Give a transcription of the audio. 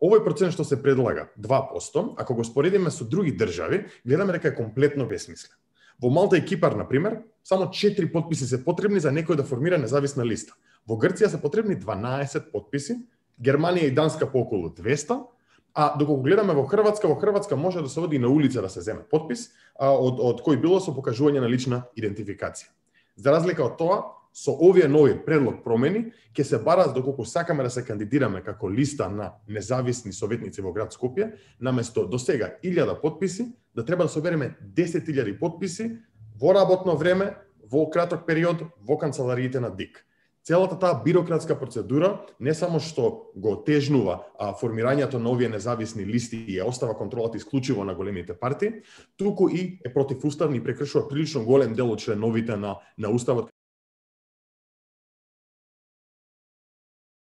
Овој процент што се предлага, 2%, ако го споредиме со други држави, гледаме дека е комплетно бесмислен. Во Малта и Кипар, например, само 4 потписи се потребни за некој да формира независна листа. Во Грција се потребни 12 потписи, Германија и Данска по околу 200, а доколку гледаме во Хрватска може да се оди на улица да се земе потпис, од кој било со покажување на лична идентификација. За разлика од тоа, со овие нови предлог промени ќе се бара доколку сакаме да се кандидираме како листа на независни советници во град Скопје, наместо досега 1000 потписи, да треба да собереме 10.000 потписи во работно време, во краток период, во канцелариите на ДИК. Целата таа бирократска процедура не само што го отежнува формирањето на овие независни листи и ја остава контролата исклучиво на големите партии, туку и е противуставна и прекршува прилично голем дел од членовите на уставот